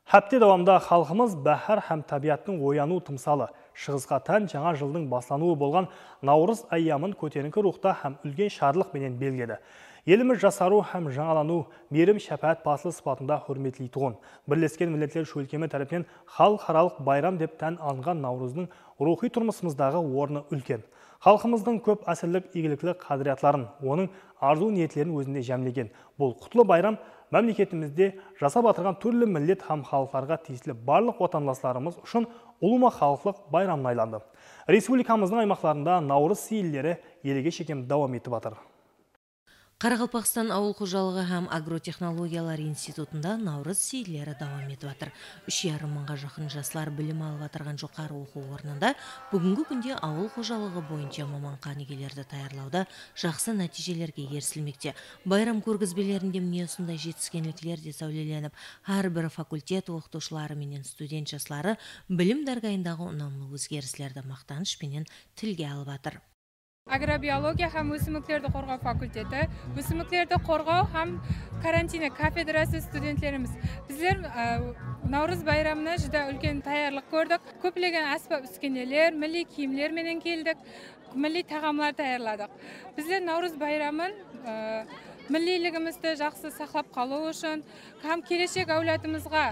Хәпте давамда халқымыз бәһәр һәм табиаттың ояну тымсалы, шығысқа тән жаңа жылдың баслануы болған Наурыз айямын көтеріңкі рухта һәм үлген шарлық менен белгіледі. Еліміз жасару һәм жаңалану, мерім шәпәт пасыл сыпатында хөрметлі тұғын. Бірлескен Милләтлер шөлкемі тарапынан халықаралық байрам деп тән алынған Наурыздың рухи тұрмысымыздағы орны үлкен. Халқымыздың көп әсірлік игіліклі қадіриятларын, оның арзу ниетлерін өзінде жәмлеген. Бұл құтлы байрам мәмлекетімізде жасап атырған түрлі миллет һәм халықтарға тиесілі барлық отандастарымыз үшін ұлыма халықлық байрамын айланды. Республикамыздың аймақтарында Наурыз сейілдері елге шекем давам етіп атыр. Қарақалпақстан ауыл қожалығы һәм агротехнологиялар институтында Наурыз сейілдері давам етіп атыр. 3,5 мыңға жақын жастар білім алып атырған жоғары оқу орнында бүгінгі күнде ауыл қожалығы бойынша маман қанигерлерді даярлауда жақсы нәтижелерге ерсілмекте. Байрам көргізбелерінде міне осындай жетіскенліктер де сәулеленіп, әрбір факультет оқытушылары менен студент жастары білім дәргайындағы ұнамлы өзгерістерді мақтанышпенен тілге алып атыр. Агробиология һәм өсімдіктерді қорғау факультеті, өсімдіктерді қорғау һәм карантина кафедрасы студенттеріміз. Біздер Наурыз байрамына жүдә үлкен таярлық көрдік. Көплеген аспап үскенелер, милли киімлер менен келдік, милли тағамлар таярладық. Біздер Наурыз байрамын миллилігімізді жақсы сақлап қалу үшін, һәм келешек әулетімізге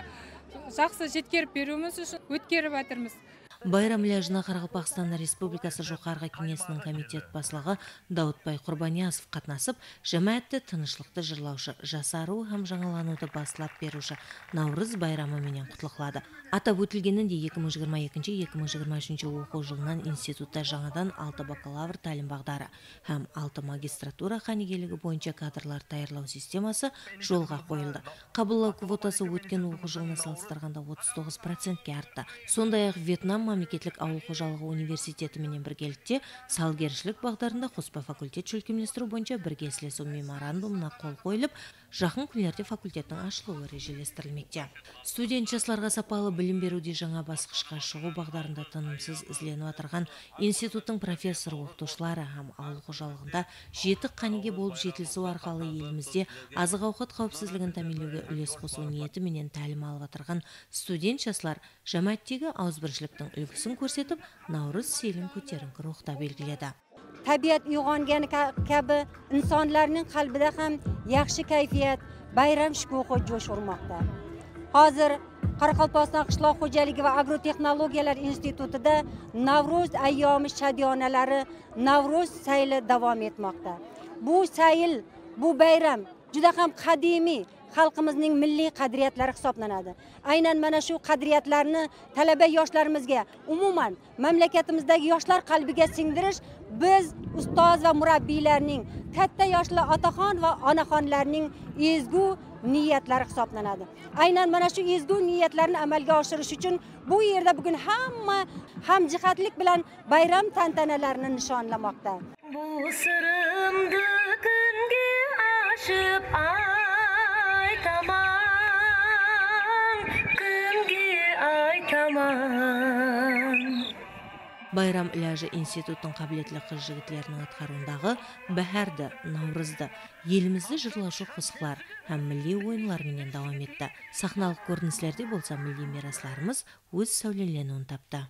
жақсы жеткеріп беруіміз үшін өткеріп атырмыз. Байрам ләжіна Қарақалпақстан Республикасы Жоғарғы кеңесінің комитет басшылығы Даутбай Құрбаниязов қатнасып, жәмәатты тынышлықты жырлаушы, жасару һәм жаңалануды басылап беруші Наурыз байрамы менен құтлықлады. Атап өтілгенінде 2022-2023 оқу жылынан институтта жаңадан 6 бакалавр тәлім бағдары һәм 6 магистратура қанигерлігі бойынша кадрлар даярлау системасы жолға қойылды. Қабылдау квотасы өткен оқу жылына салыстырғанда 39%-ке артты. Сондай-ақ Вьетнам мемлекеттік ауыл қожалығы университеті менен біргелікте салгершілік бағдарында қоспа факультет шөлкемдестіру бойынша біргеслесу меморандумына қол қойылып, жақын күндерде факультеттің ашылуы режелестірілмекте. Студент жастарға сапалы білім беруде жаңа басқышқа шығу бағдарында тынымсыз ізленіп атырған институттың профессор оқытушылары һәм ауыл қожалығында жетік қаниге болып жетілісу арқылы елімізде азық-ауқат қауіпсіздігін тәмінлеуге үлес қосу ниеті менен тәлім алып атырған студент жастар жәмәаттегі ауызбіршіліктің үлгісін көрсетіп, Наурыз сейілін көтеріңкі рухта белгіледі. Tabiat uyg'ongani kabi insonlarning qalbida ham yaxshi kayfiyat, bayram shukuhi jo'sh urmoqda. Hozir Qoraqalpog'iston qishloq xo'jaligi va agrotexnologiyalar institutida Navruz ayyomi shadiyonalari Navruz sayli davom etmoqda. Bu sayl, bu bayram juda ham qadimiy xalqimizning milliy qadriyatlari hisoblanadi. Aynan mana shu qadriyatlarni talaba yoshlarimizga, umuman mamlakatimizdagi yoshlar qalbiga singdirish biz ustoz va murabbiylarning, katta yoshli otaxon va onaxonlarning ezgu niyatlari hisoblanadi. Aynan mana shu ezgu niyatlarni amalga oshirish uchun bu yerda bugun hamma hamjihatlik bilan bayram tantanalarini nishonlamoqda. Bu sirrimni kunga ashib Байрам ләжі институттың қабілетлі қыз-жігітлерінің атқаруындағы бәһәрді, наурызды, елімізді жырлаушы қосықлар һәм милли ойынлар менен давам етті. Сахналық көріністерде болса милли мирасларымыз өз сәулеленуін тапты.